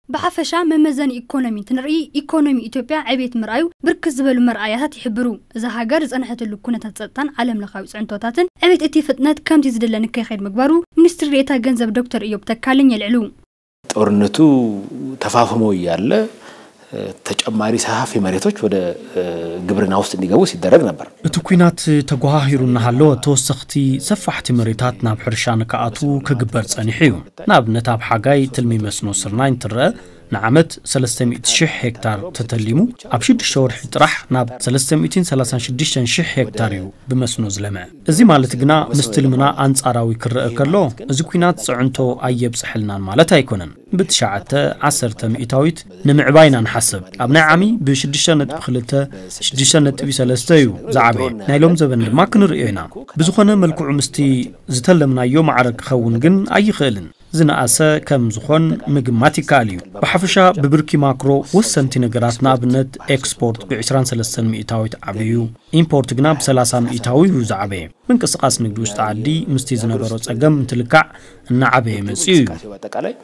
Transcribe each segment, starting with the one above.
ብሓፈሻ መመዘኒ ኢኮኖሚ እንትንርኢ፣ ኢኮኖሚ ኢትዮጵያ ዕቤት ምርኣዩ ብርክት ዝበሉ መርኣያታት ይሕብሩ። እዛ ሃገር ዝጸንሐትሉ ኩነታት ጸጥታን ዓለም ለኻዊ ጽዕንቶታትን ዕቤት እቲ ፍጥነት ከምቲ ዝድለ ንከይኸይድ ምግባሩ ሚኒስትሪ ዴኤታ ገንዘብ ዶክተር ኢዮብ ተካልኝ የልዕሉ። ጦርነቱ ተፋፍሞ እያለ ተጨማሪ ሰፋፊ መሬቶች ወደ ግብርና ውስጥ እንዲገቡ ሲደረግ ነበር። እቲ ኲናት ተጓሃሂሩ እናሃለወ ተወሰኽቲ ሰፋሕቲ መሬታት ናብ ሕርሻ ንክኣትዉ ክግበር ጸኒሑ እዩ። ንኣብነት ኣብ ሓጋይ ትልሚ መስኖ ስርናይ እንትረአ ንዓመት ሰለስተ ሚእቲ ሽሕ ሄክታር ተተሊሙ ኣብ ሽዱሽተ ወርሒ ጥራሕ ናብ ሰለስተ ሚእትን ሰላሳን ሽዱሽተን ሽሕ ሄክታር እዩ ብመስኖ ዝለምዐ። እዚ ማለት ግና ምስ ትልምና ኣንጻራዊ ክረአ ከሎ እዚ ኲናት ጽዕንቶ ኣየብጽሐልናን ማለት ኣይኮነን። ብትሽዓተ ዓሰርተ ሚእታዊት ንምዕባይ ኢና ንሓስብ። ኣብ ናይ ዓሚ ብ ሽዱሽተ ነጥቢ ክልተ፣ ሽዱሽተ ነጥቢ ሰለስተ እዩ ዝዓበየ። ናይ ሎም ዘበን ድማ ክንርእዮ ኢና። ብዝኾነ መልክዑ ምስቲ ዝተለምናዮ ማዕረ ክኸውን ግን ኣይኽእልን። ዝነኣሰ ከም ዝኾን ምግማት ይከኣል እዩ። ብሓፈሻ ብብርኪ ማክሮ ወሰንቲ ነገራት ንኣብነት ኤክስፖርት ብ ዕስራን ሰለስተን ሚእታዊት ዓብዩ፣ ኢምፖርት ግና ብ ሰላሳ ሚእታዊ እዩ ዝዓበየ። ምንቅስቓስ ንግዲ ውሽጢ ዓዲ ምስቲ ዝነበሮ ጸገም እንትልካዕ እናዓበየ መጺኡ እዩ። አጠቃላይ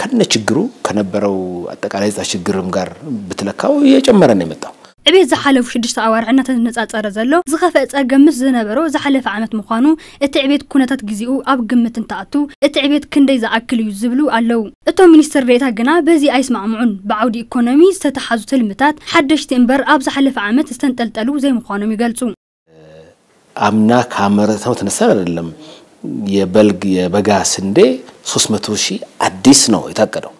ከነ ችግሩ ከነበረው አጠቃላይ ዛ ችግርም ጋር ብትለካው እየጨመረ ነው የመጣው። ዕቤት ዝሓለፉ ሽዱሽተ ኣዋርሕ እናተነጻጸረ ዘሎ ዝኸፍአ ጸገም ምስ ዝነበሮ ዝሓለፈ ዓመት ምዃኑ እቲ ዕቤት ኩነታት ግዜኡ ኣብ ግምት እንትኣቱ እቲ ዕቤት ክንደይ ዝኣክል እዩ ዝብሉ ኣለዉ። እቶም ሚኒስትር ዴኤታ ግና በዚ ኣይስማዕምዑን። ብዓውዲ ኢኮኖሚ ዝተተሓዙ ትልምታት ሓደሽቲ እምበር ኣብ ዝሓለፈ ዓመት ዝተንጠልጠሉ ዘይምዃኖም ይገልጹ። አምና ካመረተው ተነሳ አይደለም የበልግ የበጋ ስንዴ ሶስት መቶ ሺህ አዲስ ነው የታቀደው።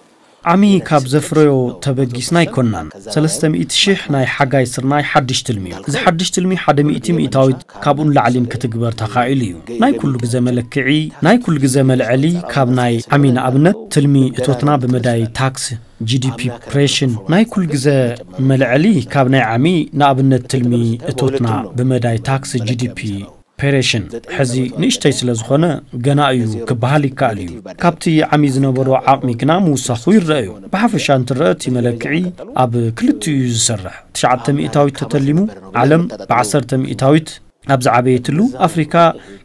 ዓሚ ካብ ዘፍረዮ ተበጊስና ኣይኮንናን። ሰለስተ ሚእቲ ሽሕ ናይ ሓጋይ ስርናይ ሓድሽ ትልሚ እዩ። እዚ ሓድሽ ትልሚ ሓደ ሚእቲ ሚእታዊት ካብኡ ንላዕሊን ክትግበር ተኻኢሉ እዩ። ናይ ኩሉ ግዘ መለክዒ፣ ናይ ኩሉ ግዘ መልዐሊ ካብ ናይ ዓሚ ንኣብነት ትልሚ እቶትና ብመዳይ ታክስ ጂ ዲ ፒ ፕሬሽን ናይ ኩል ግዘ መልዐሊ ካብ ናይ ዓሚ ንኣብነት ትልሚ እቶትና ብመዳይ ታክስ ጂ ዲ ፒ ፔሬሽን ሕዚ ንእሽተይ ስለ ዝኾነ ገና እዩ ክበሃል ይከኣል እዩ። ካብቲ ዓሚ ዝነበሮ ዓቕሚ ግና ምውሳኹ ይረአ እዩ። ብሓፈሻ እንትረአ እቲ መለክዒ ኣብ ክልቲኡ እዩ ዝሰርሕ። ትሽዓተ ሚእታዊት ተተሊሙ ዓለም ብዓሰርተ ሚእታዊት ኣብ ዝዓበየትሉ ኣፍሪካ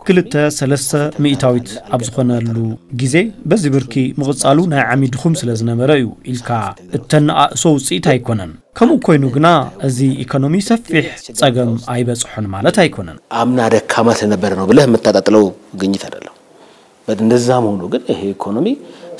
ክልተ ሰለስተ ሚእታዊት ኣብ ዝኾነሉ ግዜ በዚ ብርኪ ምቕጻሉ ናይ ዓሚ ድኹም ስለ ዝነበረ እዩ ኢልካ እተነኣእሶ ውፅኢት ኣይኮነን። ከምኡ ኮይኑ ግና እዚ ኢኮኖሚ ሰፊሕ ጸገም ኣይበጽሖን ማለት ኣይኮነን። አምና ደካማ ስለነበረ ነው ብለህ የምታጣጥለው ግኝት አይደለም። እንደዛም ሆኖ ግን ይሄ ኢኮኖሚ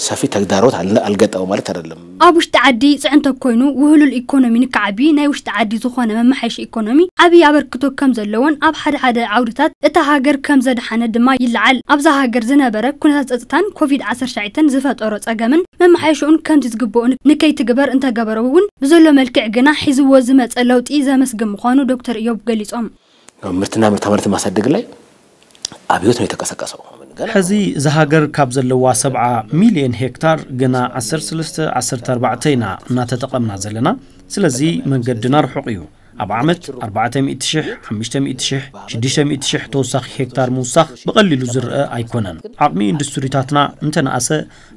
ሰፊ ተግዳሮት አልገጠመው ማለት አይደለም። ኣብ ውሽጢ ዓዲ ፅዕንቶ ኮይኑ ውህሉል ኢኮኖሚ ንክዓቢ ናይ ውሽጢ ዓዲ ዝኾነ መመሓየሺ ኢኮኖሚ ዓብዪ ኣበርክቶ ከም ዘለዎን ኣብ ሓደ ሓደ ዓውድታት እታ ሃገር ከም ዘድሓነ ድማ ይለዓል። ኣብዛ ሃገር ዝነበረ ኩነታት ፀፅታን ኮቪድ ዓሰርተ ትሽዓተ ዝፈጠሮ ፀገምን መመሓየሽኡን ከምቲ ዝግብኦ ንከይትግበር እንተገበረ እውን ብዘሎ መልክዕ ግና ሒዝዎ ዝመፀ ለውጢ ዘመስግን ምዃኑ ዶክተር እዮብ ገሊፆም። ምርትና ምርታማነት ማሳደግ ላይ አብዮት ነው የተቀሰቀሰው። ሕዚ እዛ ሃገር ካብ ዘለዋ ሰብዓ ሚልዮን ሄክታር ግና ዓሰርተ ሰለስተ ዓሰርተ ኣርባዕተ ኢና እናተጠቐምና ዘለና። ስለዚ መንገድና ርሑቕ እዩ። ኣብ ዓመት ኣርባዕተ ሚእቲ ሽሕ፣ ሓሙሽተ ሚእቲ ሽሕ፣ ሽዱሽተ ሚእቲ ሽሕ ተወሳኺ ሄክታር ምውሳኽ ብቐሊሉ ዝረአ ኣይኮነን። ዓቕሚ ኢንዱስትሪታትና እንተነኣሰ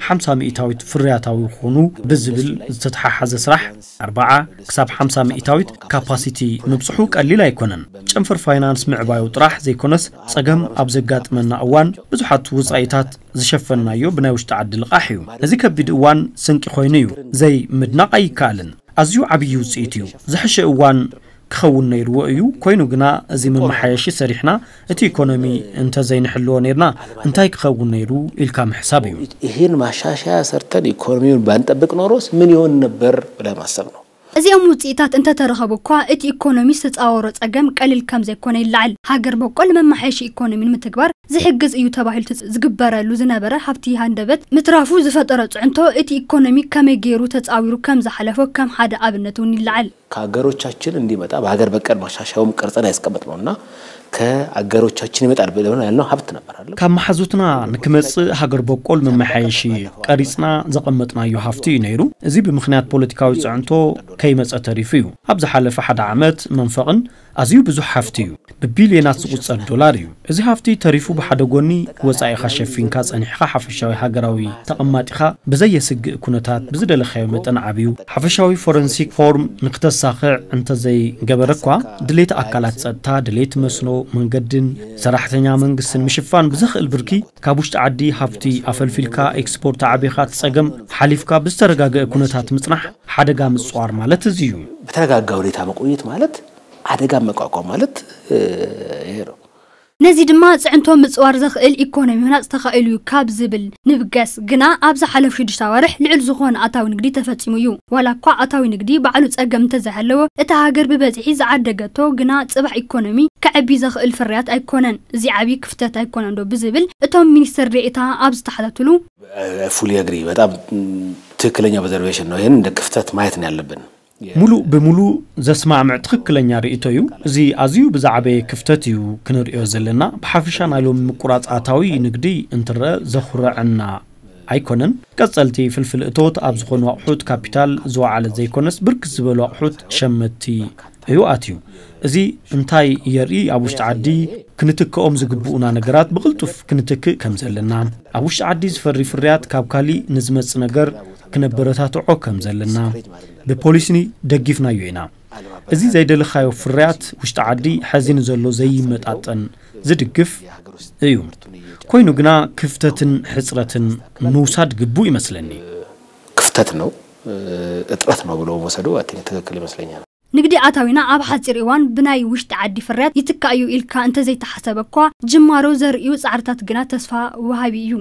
ሓምሳ ሚእታዊት ፍርያታዊ ክኾኑ ብዝብል ዝተተሓሓዘ ስራሕ ኣርብዓ ክሳብ ሓምሳ ሚእታዊት ካፓሲቲ ምብፅሑ ቀሊል ኣይኮነን። ጨንፈር ፋይናንስ ምዕባዩ ጥራሕ ዘይኮነስ ፀገም ኣብ ዘጋጥመና እዋን ብዙሓት ውፃኢታት ዝሸፈንናዮ ብናይ ውሽጢ ዓዲ ልቓሕ እዩ። እዚ ከቢድ እዋን ስንቂ ኮይኑ እዩ። ዘይምድናቕ ኣይከኣልን። ኣዝዩ ዓብዪ ውፅኢት እዩ። ዝሐሸ እዋን ክኸውን ነይርዎ እዩ። ኮይኑ ግና እዚ መመሓየሺ ሰሪሕና እቲ ኢኮኖሚ እንተዘይንሕልዎ ነይርና እንታይ ክኸውን ነይሩ ኢልካ ምሕሳብ እዩ። ይህን ማሻሻያ ሰርተን ኢኮኖሚውን ባንጠብቅ ኖሮስ ምን ይሆን ነበር ብለህ ማሰብ ነው። እዚኦም ውፅኢታት እንተተረኸቡ እኳ እቲ ኢኮኖሚ ዝተፃወሮ ፀገም ቀሊል ከምዘይኮነ ይለዓል። ሃገር በቆል መመሓየሺ ኢኮኖሚ ንምትግባር ዝሕግዝ እዩ ተባሂሉ ዝግበረሉ ዝነበረ ሃብቲ ሃንደበት ምትራፉ ዝፈጠሮ ፅዕንቶ እቲ ኢኮኖሚ ከመይ ገይሩ ተፃዊሩ ከምዝሓለፎ ከም ሓደ ኣብነት እውን ይለዓል። ከሀገሮቻችን እንዲመጣ በሀገር በቀል ማሻሻያውም ቀርጸን ያስቀመጥነውና ከአገሮቻችን ይመጣል ብለን ያልነው ሀብት ነበር አይደለም። ካብ መሓዙትና ንክመጽእ ሃገር በቆል መመሓየሺ ቀሪጽና ዘቐመጥናዮ ሃፍቲ እዩ ነይሩ። እዚ ብምኽንያት ፖለቲካዊ ጽዕንቶ ከይመጸ ተሪፉ እዩ። ኣብ ዝሓለፈ ሓደ ዓመት መንፈቕን ኣዝዩ ብዙሕ ሃፍቲ እዩ። ብቢልዮናት ዝቑጸር ዶላር እዩ። እዚ ሃፍቲ ተሪፉ ብሓደ ጎኒ ወጻኢኻ ሸፊንካ ጸኒሕኻ ሓፈሻዊ ሃገራዊ ተቐማጢኻ ብዘየስግእ ኩነታት ብዝደለኻዮ መጠን ዓብዩ። ሓፈሻዊ ፎረንሲክ ፎርም ንክተሳኽዕ እንተዘይገበረ እኳ ድሌት ኣካላት ጸጥታ፣ ድሌት መስኖ፣ መንገድን ሰራሕተኛ መንግስትን ምሽፋን ብዘኽእል ብርኪ ካብ ውሽጢ ዓዲ ሃፍቲ ኣፈልፊልካ ኤክስፖርት ኣዕቢኻ እቲ ጸገም ሓሊፍካ ብዝተረጋገአ ኩነታት ምጽናሕ ሓደጋ ምጽዋር ማለት እዚ እዩ። በተረጋጋ ሁኔታ መቆየት ማለት ኣደጋ መቋቋም ማለት ይሄ ነው። ነዚ ድማ ጽዕንቶ ምጽዋር ዘኽእል ኢኮኖሚ ምህናጽ ተኻኢሉ እዩ ካብ ዝብል ንብገስ ግና ኣብ ዝሓለፉ ሽዱሽተ ኣዋርሕ ልዑል ዝኾነ ኣታዊ ንግዲ ተፈጺሙ እዩ። ዋላ እኳ ኣታዊ ንግዲ ባዕሉ ጸገም እንተዘይሃለዎ እታ ሃገር ብበዝሒ ዝዓደገቶ ግና ጽባሕ ኢኮኖሚ ከዕቢ ዘኽእል ፍርያት ኣይኮነን። እዚ ዓብዪ ክፍተት ኣይኮነን ዶ ብዝብል እቶም ሚኒስትር ዴኤታ ኣብ ዝተሓታትሉ fully agree በጣም ትክክለኛ observation ነው። ይህን እንደ ክፍተት ማየት ነው ያለብን። ሙሉእ ብሙሉእ ዘስማዕምዕ ትኽክለኛ ርእይቶ እዩ። እዚ ኣዝዩ ብዛዕበየ ክፍተት እዩ ክንርእዮ ዘለና። ብሓፈሻ ናይ ሎሚ ምቁራፅ ኣታዊ ንግዲ እንትረአ ዘኹረዐና ኣይኮነን። ቀፀልቲ ፍልፍል እቶት ኣብ ዝኾኑ ኣቑሑት ካፒታል ዝወዓለ ዘይኮነስ ብርክት ዝበሉ ኣቑሑት ሸመትቲ እዩ ኣትዩ። እዚ እንታይ የርኢ? ኣብ ውሽጢ ዓዲ ክንትክኦም ዝግብኡና ነገራት ብቕልጡፍ ክንትክእ ከም ዘለና፣ ኣብ ውሽጢ ዓዲ ዝፈሪ ፍርያት ካብ ካሊእ ንዝመጽእ ነገር ክነበረታትዖ ከም ዘለና ብፖሊሲ ደጊፍናዮ ኢና። እዚ ዘይደለኻዮ ፍርያት ውሽጢ ዓዲ ሕዚ ንዘሎ ዘይመጣጠን ዝድግፍ እዩ። ኮይኑ ግና ክፍተትን ሕጽረትን ምውሳድ ግቡእ ይመስለኒ። ክፍተት ነው እጥረት ነው ብሎ መውሰዱ ትክክል ይመስለኛል። ንግዲ ኣታዊና ኣብ ሓፂር እዋን ብናይ ውሽጢ ዓዲ ፍርያት ይትካእ እዩ ኢልካ እንተዘይተሓሰበ እኳ ጅማሮ ዘርእዩ ፃዕርታት ግና ተስፋ ወሃቢ እዩ።